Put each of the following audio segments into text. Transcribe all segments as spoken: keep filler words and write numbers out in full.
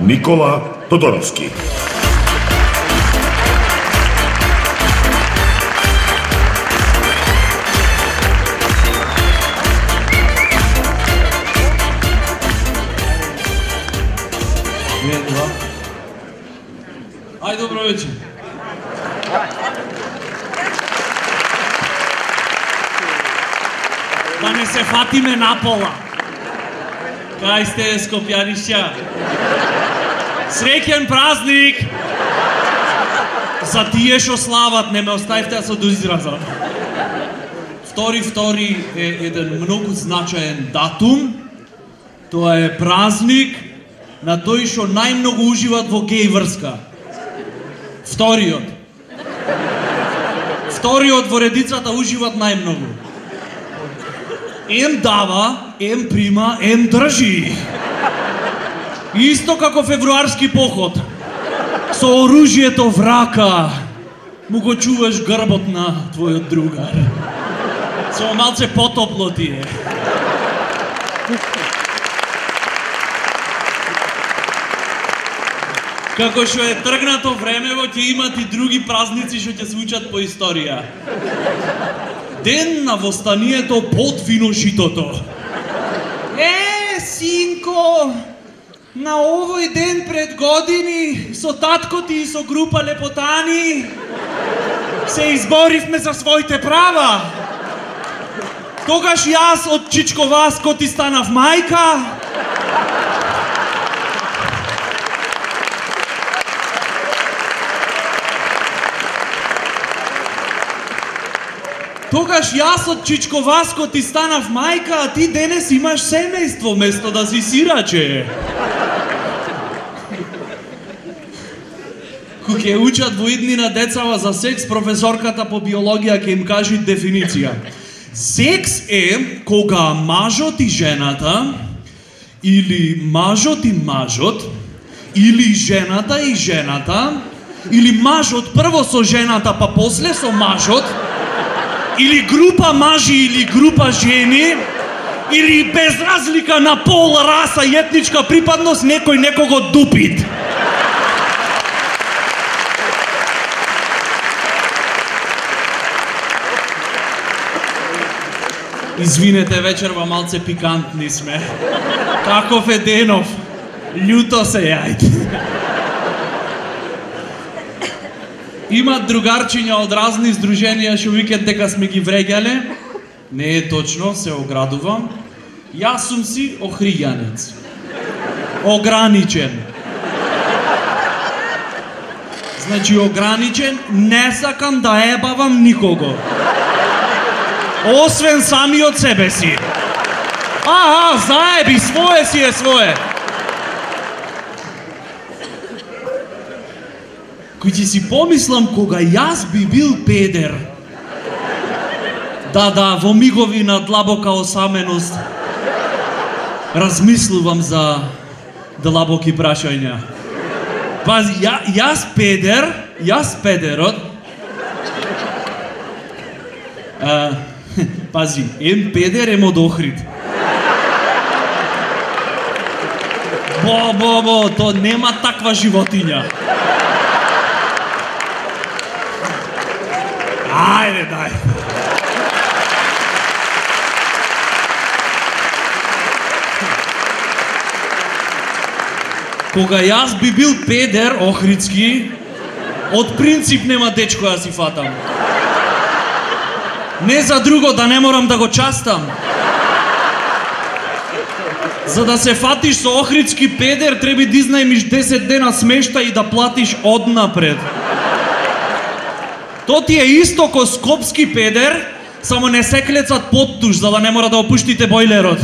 Никола Тодоровски. Ај, добро вечер. Да не се фатиме напола. Кај сте, скопјанишќа? Среќен празник! За тие што слават, не ме оставите со доизраза. Втори втори е еден многу значаен датум. Тоа е празник на тој што најмногу уживат во геј врска. Вториот. Вториот во редицата уживат најмногу. Ем дава, ем прима, ем држи. Исто како февруарски поход. Со оружјето в рака му го чуваш грбот на твојот другар. Само малце потопло ти е. Како што е тргнато времево, ќе имат и други празници што ќе се учат по историја. Ден на востанието под виношитото. Е, синко, на овој ден пред години со татко ти и со група лепотани се изборивме за своите права. Тогаш јас од Чичковаско ти станав мајка. Тогаш јас од Чичковаско ти станав мајка, а ти денес имаш семејство место да си сираче. Кога ќе учат во иднина децава за секс, професорката по биологија ќе им кажи дефиниција. Секс е кога мажот и жената, или мажот и мажот, или жената и жената, или мажот прво со жената, па после со мажот, или група мажи или група жени, или без разлика на пол, раса и етничка припадност, некој некого дупит. Извинете, вечерва малце пикантни сме. Каков е денов? Љуто се јајте. Имат другарчиња од разни здруженија што викат дека сме ги вреѓале. Не е точно, се оградувам. Јас сум си охријанец. Ограничен. Значи ограничен, не сакам да ебавам никого. Освен самиот себе си. Аха, заеби, свое си е свое. Кој ќе си помислам кога јас би бил педер. Да, да, во мигови на длабока осаменост размислувам за длабоки прашања. Пази, ја, јас педер, јас педерот. А, пази, ем педер, ем од Охрид. Бо, бо, бо, то нема таква животиња. Ајде, дај. Кога јас би бил педер охридски, од принцип нема дечко да си фатам. Не за друго, да не морам да го частам. За да се фатиш со охридски педер, треба да изнајмиш десет дена смешта и да платиш однапред. То ти е исто ко скопски педер, само не се клецат подтуш, за да не мора да опуштите бойлерот.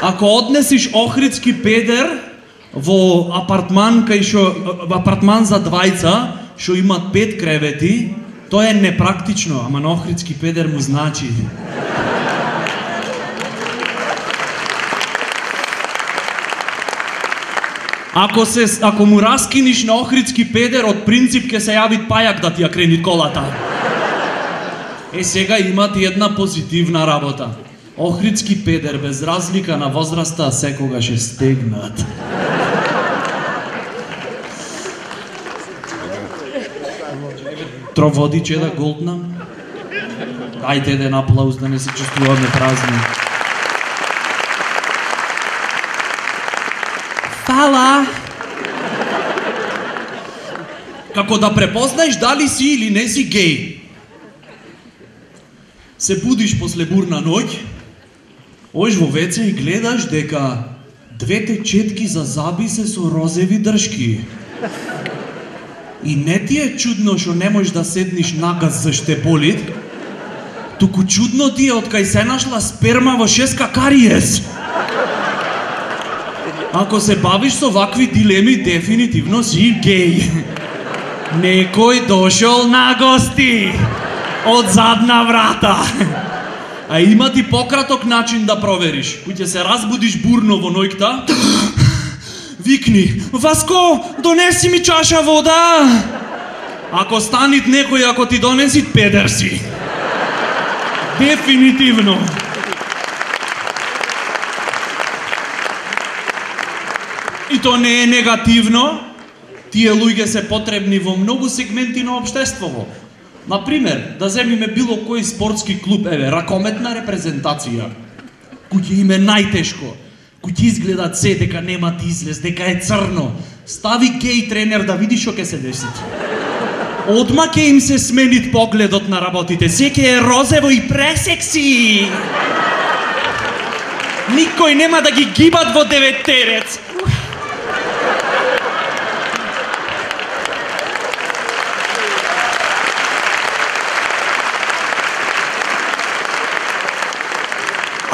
Ако однесиш охридски педер во апартман кај шо во апартман за двајца, што имат пет кревети, тоа е непрактично, ама на охридски педер му значи. Ако се ако му раскиниш на охридски педер, од принцип ќе се јави пајак да ти ја крени колата. Е, сега имат и една позитивна работа. Охридски педер, без разлика на возраста, секогаш е стегнат. Троводич е да голднам? Ајде еден аплауз да не се чувствуваме празни. Фала! Како да препознаеш дали си или не си геј. Се будиш после бурна ноќ, оиш во веце и гледаш дека двете четки за заби се со розеви дршки. И не ти е чудно што не можеш да седниш нагаз за штеполит, туку чудно ти е откај се нашла сперма во шеска кариес. Ако се бавиш со вакви дилеми, дефинитивно си геј. Некој дошол на гости од задна врата. А има ти пократок начин да провериш. Кој ќе се разбудиш бурно во ноќта, викни: Васко, донеси ми чаша вода. Ако станит некој, ако ти донеси, педер си. Дефинитивно. И то не е негативно. Тие луѓе се потребни во многу сегменти на општеството. Например, да земиме било кој спортски клуб, еве, ракометна репрезентација, кој ќе им е најтешко, кој ќе изгледат се дека немат излез, дека е црно. Стави геј тренер да види што ќе се деси. Одма ќе им се сменит погледот на работите, се ќе е розево и пресекси. Никој нема да ги гибат во деветтерец.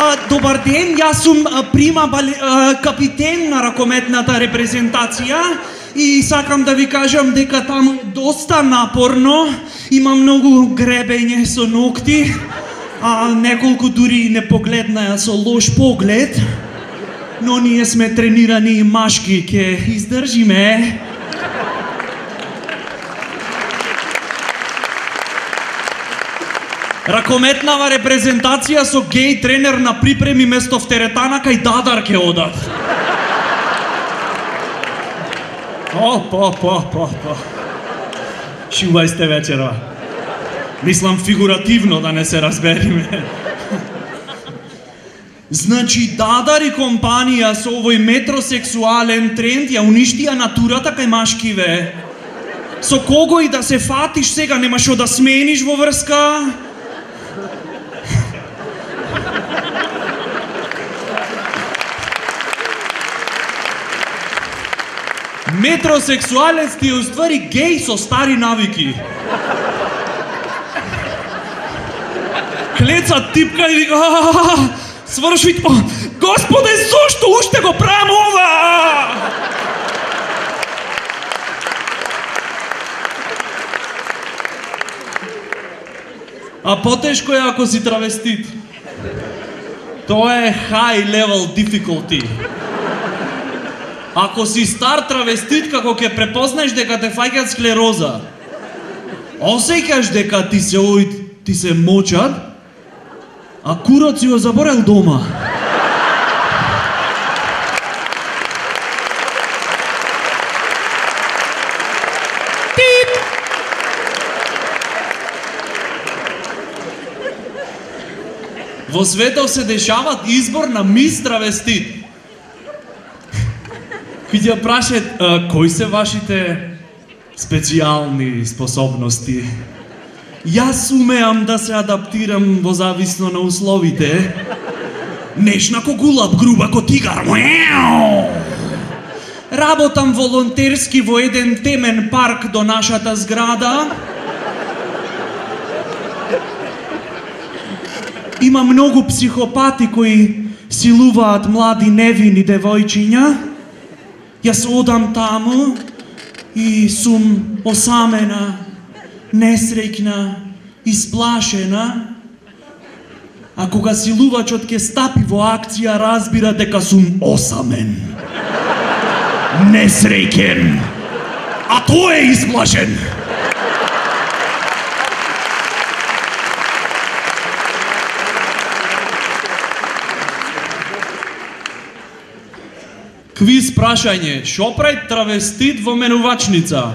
А, добар ден, јас сум а, прима бали, а, капитен на ракометната репрезентација и сакам да ви кажам дека таму е доста напорно, има многу гребење со ногти, а неколку дури не погледнаја со лош поглед, но ние сме тренирани и машки, ќе издржиме. Ракометнава репрезентација со геј тренер на припреми место в теретана кај Дадар ке одат. О, по, по, по, по. Шувај сте вечерва. Мислам фигуративно, да не се разбериме. Значи, Дадар и компанија со овој метросексуален тренд ја уништија натурата кај машкиве. Со кого и да се фатиш сега, нема шо да смениш во врска? Метросексуалец ти е уствари геј со стари навики. Клеца типка и вика: сврши, Господе, зошто уште го правам ова? А потешко е ако си травестит. Тоа е high level difficulty. Ако си стар травестит, како ќе препознаеш дека те фаќат склероза, осеќаш дека ти се ој, ти се мочат, а курот си го заборел дома. Тип! Во светот се дешават избор на мис травестит. Кој ќе прашат, кои се вашите специјални способности? Јас умеам да се адаптирам во зависно на условите. Нешна ко гулаб, груба ко тигар. Работам волонтерски во еден темен парк до нашата зграда. Има многу психопати кои силуваат млади невини девојчиња. Јас одам таму и сум осамена, несреќна, исплашена. А кога силувачот ќе стапи во акција, разбира дека сум осамен, несреќен, а тој е исплашен. Квиз прашање, шо прави травестит во менувачница?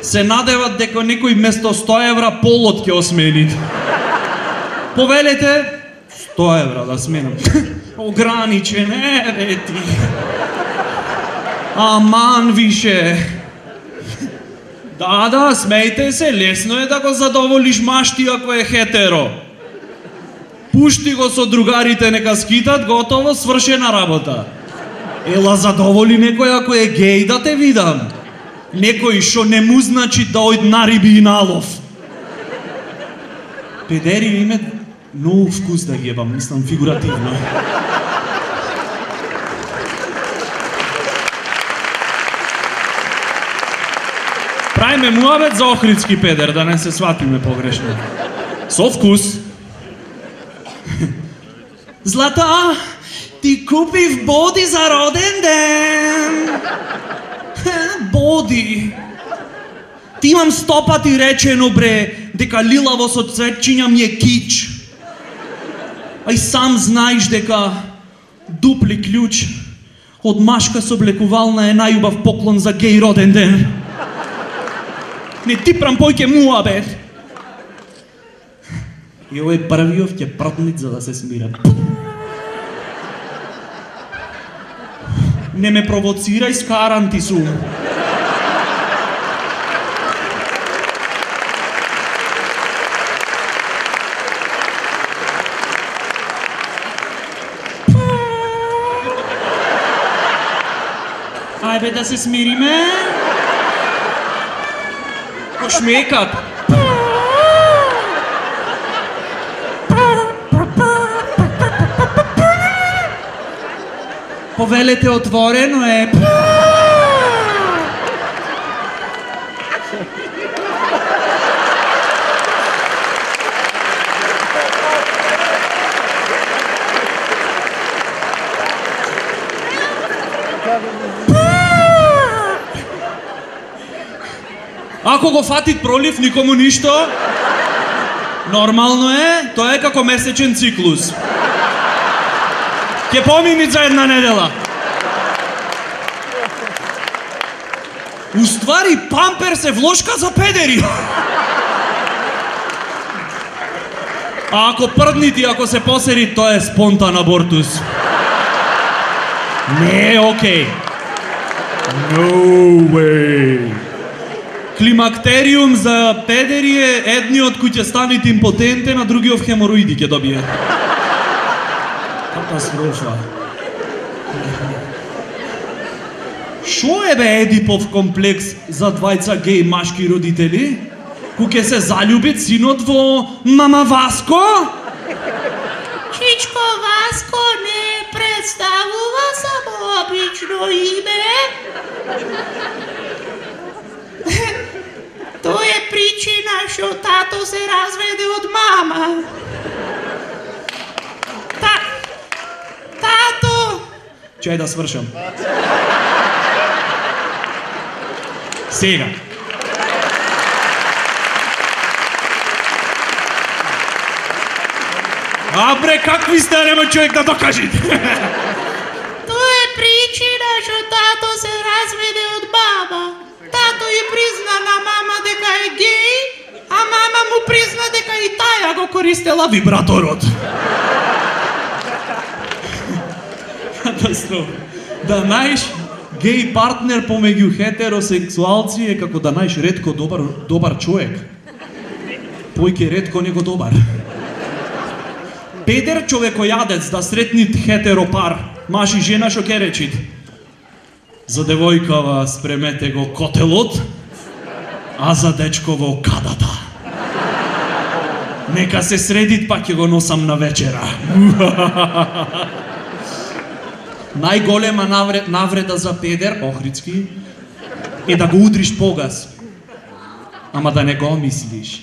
Се надеват дека некој место сто евра полот ќе осменит. Повелете сто евра да сменам. Ограничен, еве ти. Аман више. Да, да, смејте се, лесно е да го задоволиш машти ако е хетеро. Пушти го со другарите, нека скитат, готово, свршена работа. Ела задоволи некој ако е геј да те видам. Некој шо не му значи да ојд на риби и налов. Педери име многу вкус да ги ебам, мислам фигуративно. Прајме муабет за охридски педер, да не се сватиме погрешно. Со вкус. Злата, ти купив боди за роден ден. Боди. Ти имам сто пати речено, бре, дека лилаво со цветчиња ми е кич. А и сам знаеш дека дупли клjuč од машка со облекувална е најубав поклон за геј роден ден. Не ти прам појќе муабет. И овој првиот ќе пртнит за да се смира. Не ме провоцирај, скаран ти сум. Ајде да се смириме. Шмекат. Повелете отворено е. Ако го фатит пролив, никому ништо. Нормално е, тоа е како месечен циклус. Ќе помини за една недела. Уствари, памперс е влошка за педери. А ако прднити, ако се посери, тоа е спонтан абортус. Не е окей. No way. Климактериум за педери е едниот кој ќе станет импотентен, а другиот хемороиди ќе добие. Катастрофа. Шо е бе Едипов комплекс за двајца геј машки родители? Кој ќе се заљубит синот во мама Васко? Чичко Васко не представува само обично име. Тоа е причина што тато се разведе од мама. Та... Тато... Чај да свршам. Сега. А бре, какви сте, нема човек да докажите? Тоа е причина што тато се разведе од мама. Тато ја призна на мама дека е геј, а мама му призна дека и таја го користела вибраторот. Катастрофа. Да најш геј партнер помеѓу хетеросексуалци е како да најш ретко добар, добар човек. Појќе ретко него добар. Педер човекојадец да сретнит хетеропар, маж и жена шо ке речит? За девојкава спремете го котелот, а за дечково кадата. Нека се средит, па ќе го носам на вечера. Најголема навред, навреда за педер, охридски, е да го удриш погас. Ама да не го мислиш.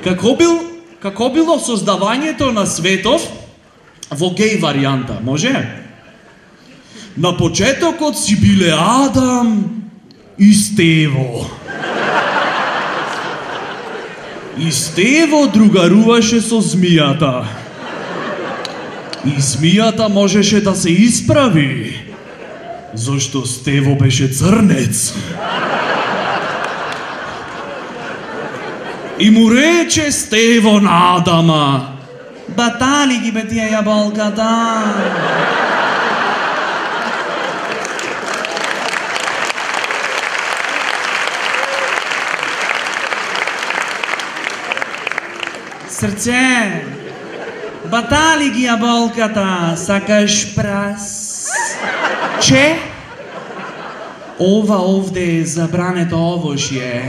Како бил, како било создавањето на светов во геј варијанта, може? На почетокот си биле Адам и Стево. И Стево другаруваше со змијата. И змијата можеше да се исправи, зашто Стево беше црнец. И му рече Стево на Адама: батали ги бе тие јаболката. Срце, батали ги јаболката, сакаш прас? Че? Ова овде е забрането овошје.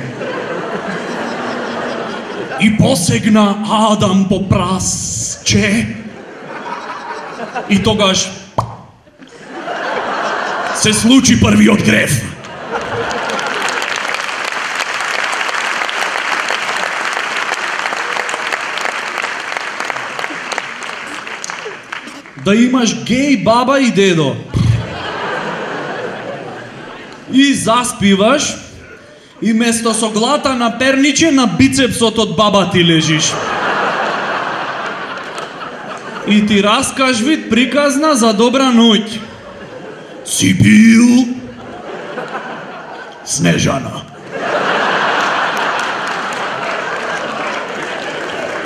И посегна Адам по прас, че? И тогаш се случи првиот грев. Да имаш геј баба и дедо. И заспиваш, и место со глата на перниче на бицепсот од баба ти лежиш. И ти раскажвит приказна за добра ноќ. Си бил Снежана.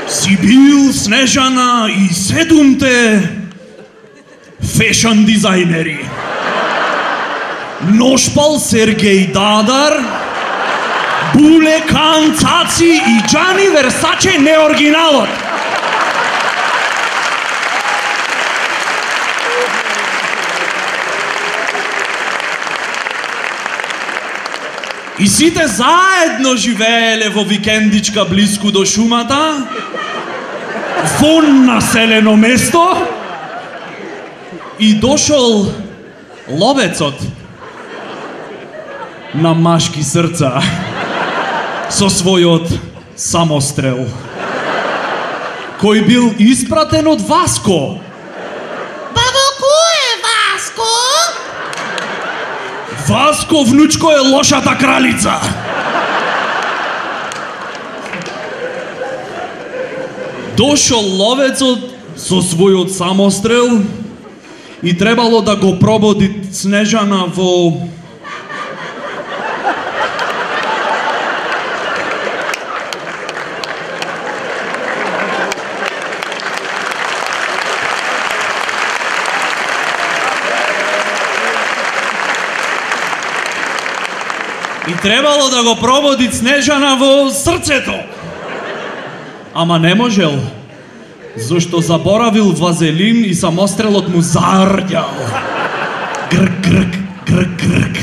Си бил Снежана и седумте фешн дизајнери. Ношпал Сергеј Дадар, Буле Кан Цаци и Джани Версаче неоригиналот. И сите заедно живееле во викендичка блиску до шумата, во населено место, и дошол ловецот на машки срца со својот самострел, кој бил испратен од Васко. Бабо, кој е Васко? Васко, внучко, е лошата кралица. Дошол ловецот со својот самострел и требало да го прободи Снежана во И требало да го прободи Снежана во срцето. Ама не можел, зашто заборавил вазелин и самострелот му зарѓал. Грк, грк, грк, грк.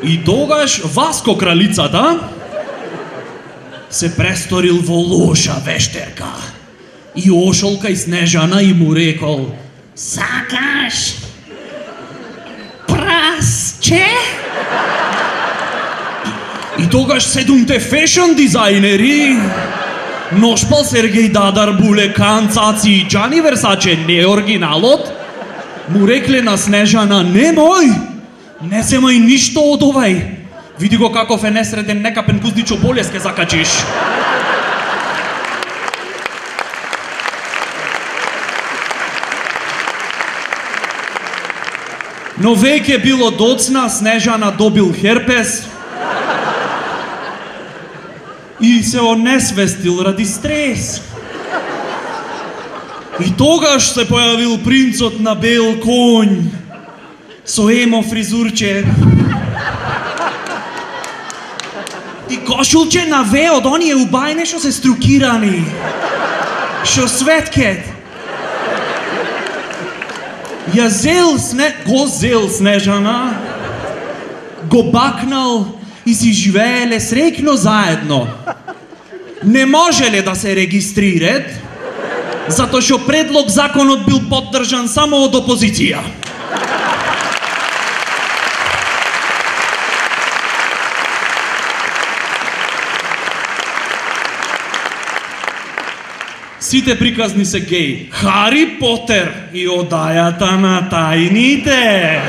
И тогаш Васко кралицата се престорил во лоша вештерка и ошол кај Снежана и му рекол: сакаш прасче? И тогаш седумте фешн дизајнери, Ношпал Сергеј Дадар, Буле Кан Цаци и Джани Версаче неоригиналот, му рекле на Снежана: немој, не земај ништо од овај. Види го каков е несреден, некапен гуздичо болест ке закачиш. Но веќе било доцна, Снежана добил херпес и се онесвестил ради стрес. И тогаш се појавил принцот на бел конј со емо фризурче и кошулче на ве од оние убајне што се струкирани, што светкет. Ја зел сне... го зел Снежана, го бакнал и си живееле среќно заедно. Не можеле да се регистрират, затоа што предлог законот бил поддржан само од опозиција. Сите приказни се геј. Хари Потер и одајата на тајните.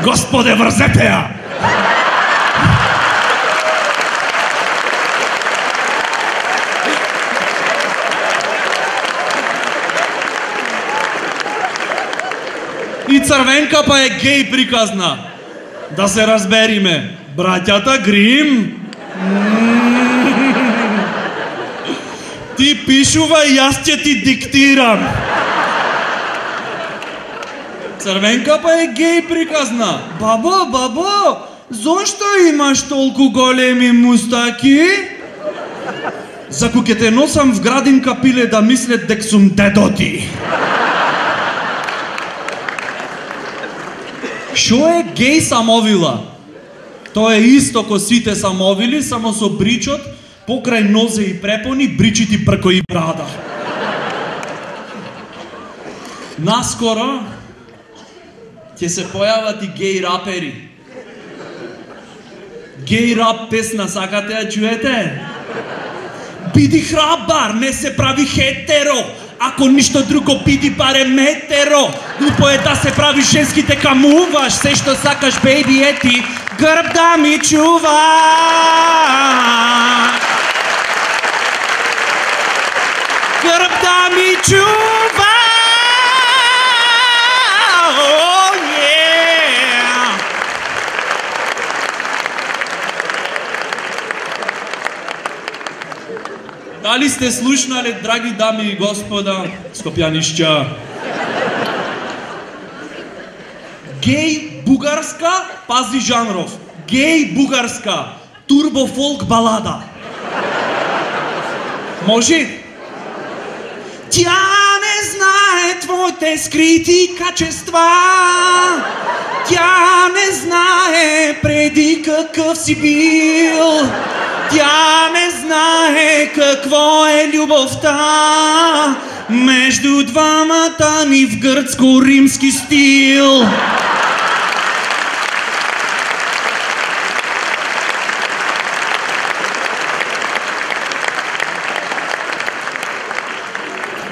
Господе, врзете ја! И Црвенка па е геј приказна. Да се разбериме, браќата Грим. Ти пишувај, јас ќе ти диктирам. Црвенка па е геј приказна. Бабо, бабо, зошто имаш толку големи мустаки? Заку ќе те носам в градинка пиле да мислет дек сум дедо ти. Шо е геј самовила? Тоа е исто ко сите самовили, само со бричот, покрај нозе и препони, бричити прко и брада. Наскоро ќе се појават и геј рапери. Геј рап песна, сакате ја чуете? Биди храбар, не се прави хетеро. Ако ништо друго, биди барем метеро. Глупо е да се прави женските камуваш. Се што сакаш, бейби, ети, грб да ми чува. Грб да ми чува. Oh, yeah. Дали сте слушнале, драги дами и господа, скопјанишќа? Геј бугарска, пази жанров. Геј бугарска, турбо фолк балада. Може? Тя не знае твоите скрити качества. Тя не знае преди какъв си бил. Тя не знае какво е любовта между двамата ни в гръцко-римски стил.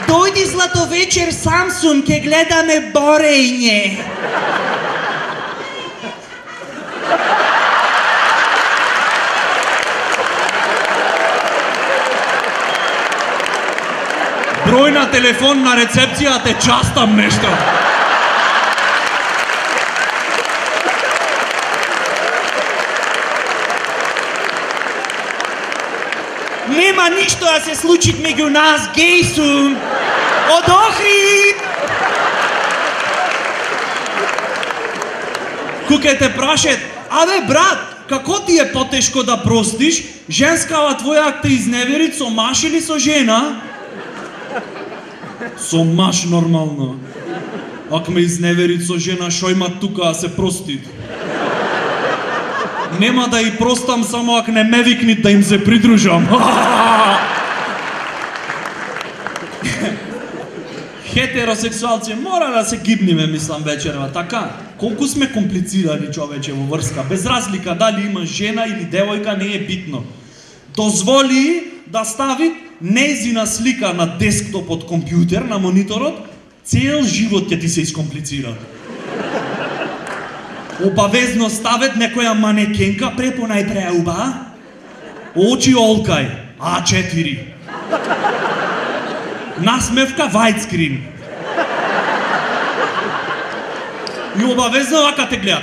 Дойди златовечер Самсун, ке гледаме борење. Број на телефон на рецепција те частам нешто. Нема ништо да се случи меѓу нас, геј сум. Од Охрид! Куке те прашет, абе брат, како ти е потешко да простиш? Женскава твоја те изневерит со маш или со жена? Со маш нормално. Ако ме изневерит со жена, шо има тука да се прости? Нема да и простам само ако не ме викнит да им се придружам. Хетеросексуалци мора да се гибниме, мислам, вечерва, така? Колку сме комплицирани, човече, во врска. Без разлика дали има жена или девојка, не е битно. Дозволи да стави нејзина слика на десктоп од компјутер, на мониторот, цел живот ќе ти се искомплицира. Обавезно ставет некоја манекенка, препонај преуба, очи олкај, а четири. Насмевка widescreen. И обавезно вака те гледат.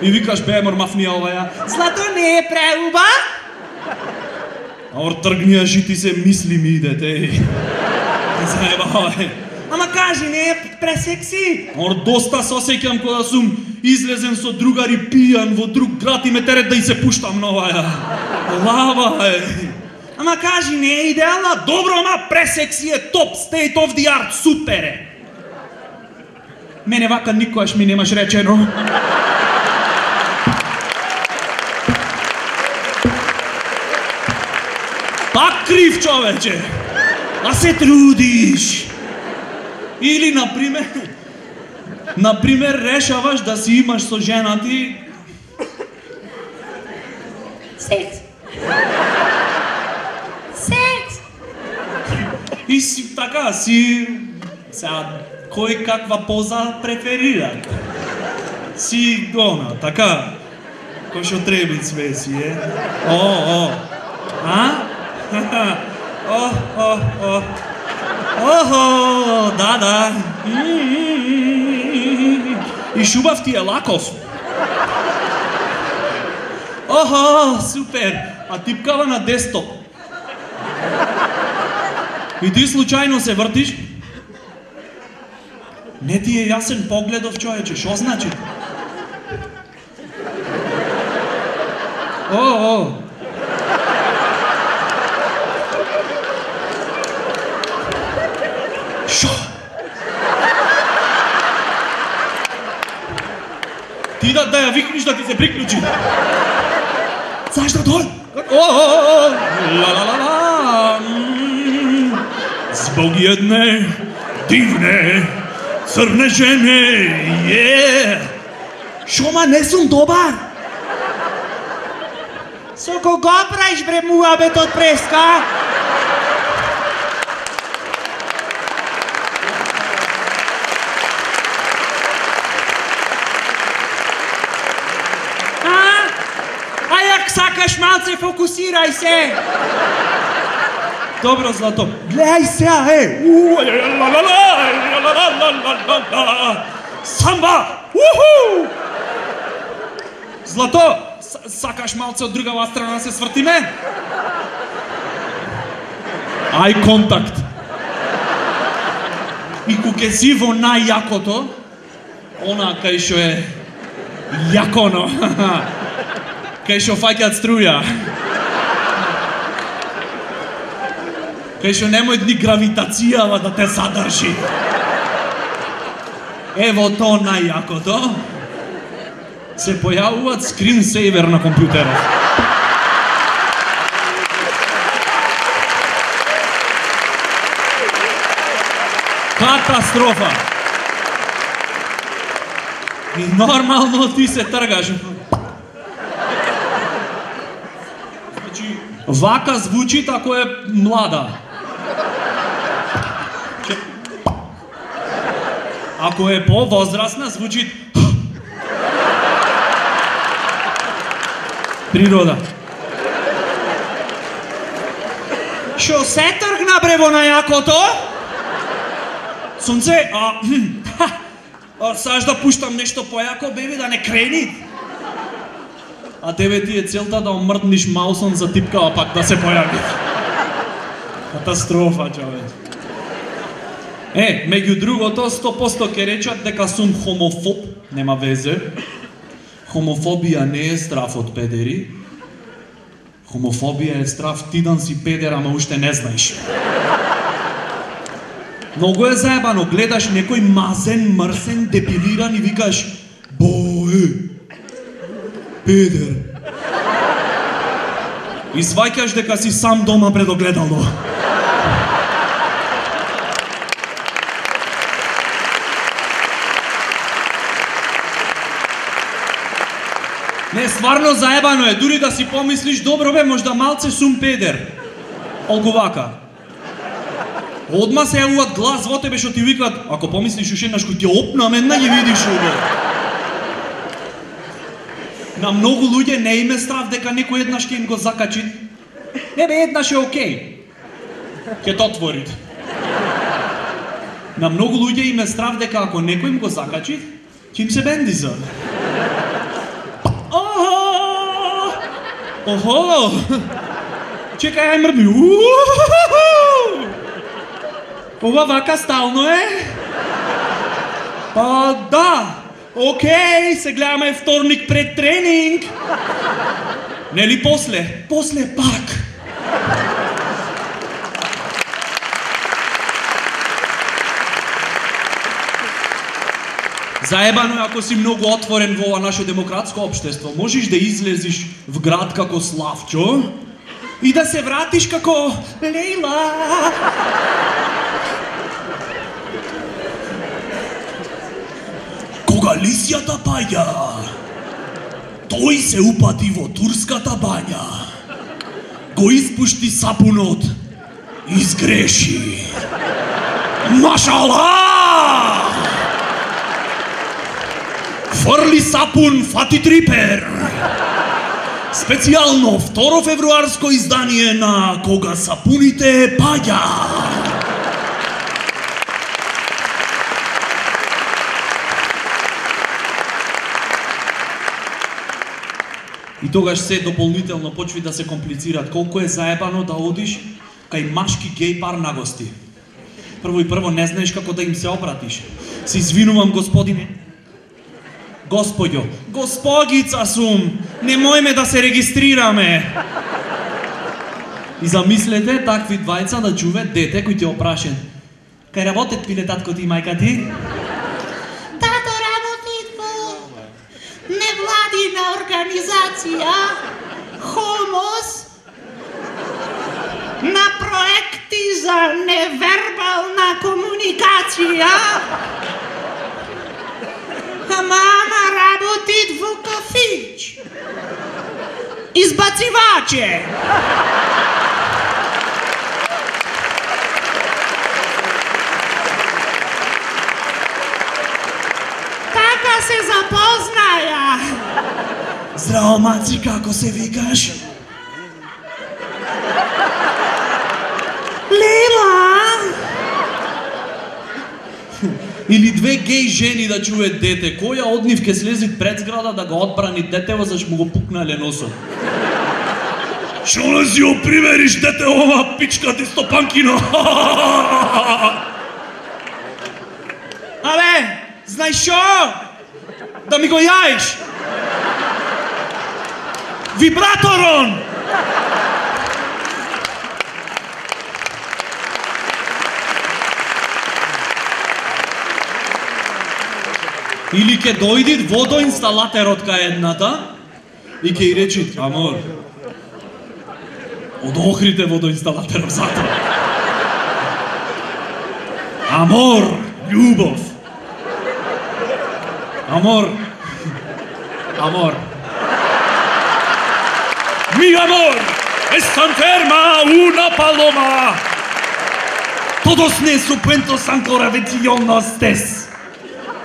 И викаш, бе, мормафнија оваја, злато не е преуба? Ор тргнија жити се мисли ми идете, еј. Не заебавај. Ама кажи, не е пресекси? Ор доста се осеќам кога сум излезен со другари пијан во друг град и ме терет да и се пуштам на оваја. Лава, еј. Ама кажи, не е идеална? Добро, ама пресекси е топ, state of the art, супер е. Мене вака никогаш ми немаш речено. Пак крив, човече. А се трудиш. Или, например, например, решаваш да си имаш со жена ти секс. Секс. И си така, си сега кој каква поза преферира. Си гона, така. Кој што треба све си е. О, о. А? О, о, о. Охо, да, да. И шубав ти е лаков. Охо, супер. А типкава на десктоп. И ти случајно се вртиш? Не ти е јасен погледов, човече, шо значи? О, о. Шо? Ти да, да ја викниш да ти се приклучи. Знаеш да дол? О, о, о, ла, ла, ла, ла. Због едне дивне црне жене, е. Шома, не сум добар. Со кого правиш бре муабет од преска? А? А јак сакаш малце фокусирај се. Добро, Злато. Гледај сега, е. У, ла, ла, ла, ла, ла, ла, ла, ла. Самба! Уху! Злато, сакаш малце од другава страна се свртиме? Ај контакт. И кога си во најјакото, она кај шо е јаконо, кај шо фаќаат струја, кај шо немој ни гравитацијава да те задржи. Ево то најјакото, се појавуваат скринсейвер на компјутерот. Катастрофа! И нормално ти се тргаш. Значи, вака звучи ако е млада. Ако е по-возрастна, звучи природа. Шо се тргна бре во најакото? Сонце, а, а саш да пуштам нешто појако, беби, да не крени. А тебе ти е целта да омртниш маусом за типкава пак да се појави. Катастрофа, човек. Е, меѓу другото, сто посто ќе речат дека сум хомофоб, нема везе. Хомофобија не е страф од педери. Хомофобија е страф ти да си педер, ама уште не знаеш. Многу е заебано, гледаш некој мазен, мрсен, депилиран и викаш боe, педер. И сваќаш дека си сам дома пред огледало. Не, стварно заебано е, дури да си помислиш, добро бе, можда малце сум педер. Олку вака. Одма се јавуваат глас во тебе што ти викаат, ако помислиш уште еднаш кој ти опна менна ги видиш ово. На многу луѓе не им е страв дека некој еднаш ќе им го закачи. Не бе, еднаш е окей. Ќе то отвори. На многу луѓе им е страв дека ако некој им го закачи, ќе им се бендиза. Охо! Чекај, ај мрдни. Ова вака стално е? Па да. Океј, се гледаме вторник пред тренинг. Нели после? После пак. Заебано е ако си многу отворен во ова наше демократско општество. Можеш да излезиш в град како Славчо и да се вратиш како Лейла. Кога лисјата паѓа, тој се упати во турската бања. Го испушти сапунот и изгреши. Машала! Фрли сапун, фати трипер. Специјално второ февруарско издание на Кога сапуните паѓа. И тогаш се дополнително почви да се комплицираат. Колку е заебано да одиш кај машки геј пар на гости. Прво и прво не знаеш како да им се обратиш. Се извинувам, господине. Господјо, госпогица сум, немојме да се регистрираме. И замислете такви двајца да чуве дете кој ти опрашен. Кај работет пиле татко ти и мајка ти? Тато работи во невладина организација Хомос на проекти за невербална комуникација. А мама работи во кафич. Избациваче. Така се запознаја. Здраво, маци, како се викаш? Лела. Или две геј жени да чуе дете, која од нив ке слези пред зграда да го одбрани детево зашто му го пукнале носот? Шо не си го привериш дете ова пичка ти стопанкино? Абе, знаеш шо? Да ми го јаиш? Вибраторон! Или ке дојди водоинсталатерот кај едната и ке и речи, амор, од Охрид е водоинсталатерот затоа. Амор, љубов. Amor. Amor. Mi amor está enferma una paloma. Todos nesupentos ancora vecchionos tes.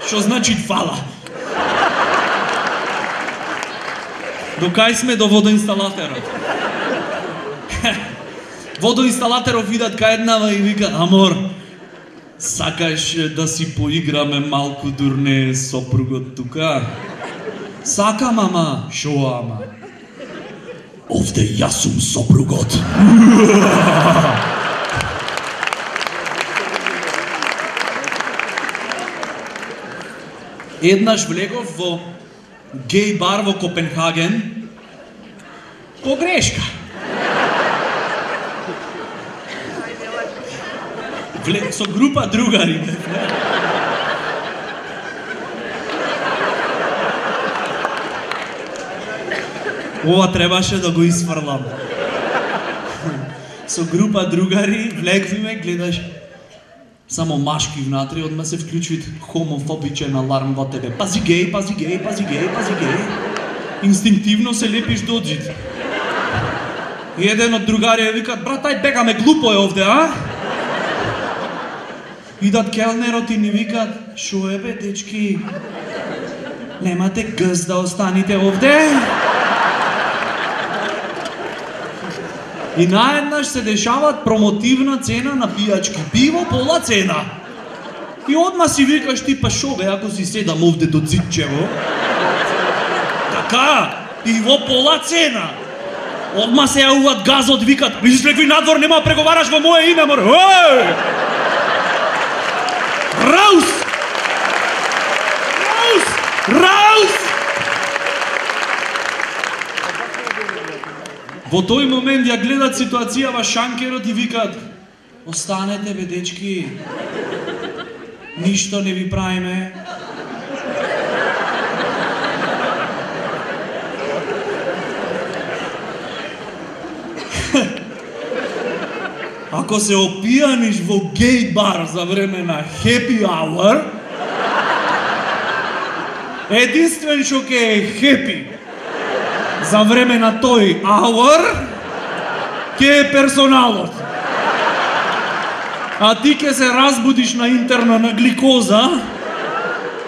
Што значи фала? До кај сме до водоинсталатерот? Водоинсталатерот видат кај еднава и вика, амор, сакаш да си поиграме малку дурне сопругот тука? Сакам, ама, шо ама? Овде јас сум сопругот. Еднаш влегов во геј бар во Копенхаген по грешка. Влег со група другари. Ова требаше да го изфрлам. Со група другари влегвиме, гледаш само машки внатре, одма се вклучува хомофобичен аларм во тебе. Пази геј, пази геј, пази геј, пази геј. Инстинктивно се лепиш до зид. И еден од другарија викат, брат, ај бегаме, глупо е овде, а? Идат келнерот и ни викат, шо е бе, дечки? Немате гъс да останете овде? И наеднаш се дешават промотивна цена на пијачки. Пиво пола цена. И одма си викаш ти, па шо бе, ако си седам овде до Цитчево? Така, пиво пола цена. Одма се јавуват газот, викат, мислиш лекви надвор нема преговараш во моје име, мор. Еј! Раус! Раус! Раус! Во тој момент ја гледат ситуацијава шанкерот и викат, останете бе дечки, ништо не ви правиме. Ако се опијаниш во геј бар за време на happy hour, единствен што ке е happy за време на тој hour, ке е персоналот. А ти ке се разбудиш на интерна на гликоза,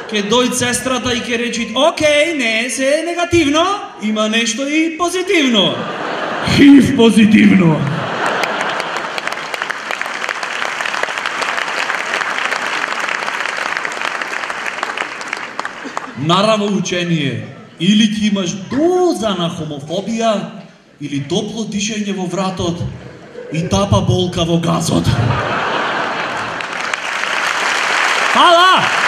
ке дојд сестрата и ке речи, окей, не се негативно, има нешто и позитивно. Хив позитивно. Нараво учение. Или ќе имаш доза на хомофобија, или топло дишење во вратот и тапа болка во газот. Фала!